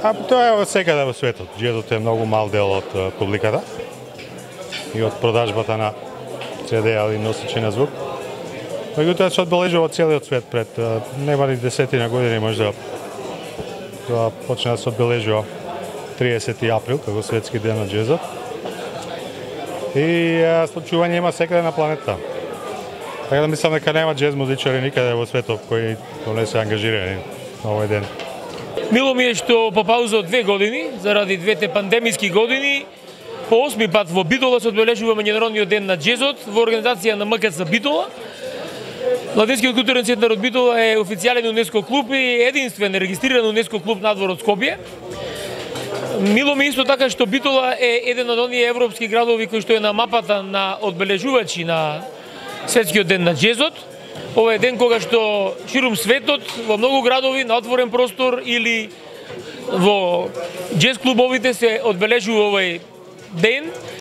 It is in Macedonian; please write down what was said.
Тоа е секаде во светот. Джезот е многу мал дел од публиката и од продажбата на CD или носичи на звук. Меѓутоа се одбележува целиот свет пред нема ни десетина години можда. Тоа почна да се одбележува 30 април како светски ден на джезот. И случување има секаде на планетата. Така да мислам дека нема джез музичари никаде во светот кои не се ангажирани на овој ден. Мило ми е што по пауза од 2 години, заради двете пандемиски години, по 8 пат во Битола се одбележува меѓународниот ден на джезот во организација на МКЦ Битола. Младинскиот културен центар од Битола е официјален УНЕСКО клуб и единствен регистриран УНЕСКО клуб надвор од Скопје. Мило ми исто така што Битола е еден од оние европски градови кој што е на мапата на одбележувачи на светскиот ден на джезот. Ова е ден кога што ширум светот, во многу градови, на отворен простор или во джез клубовите се одбележува овој ден.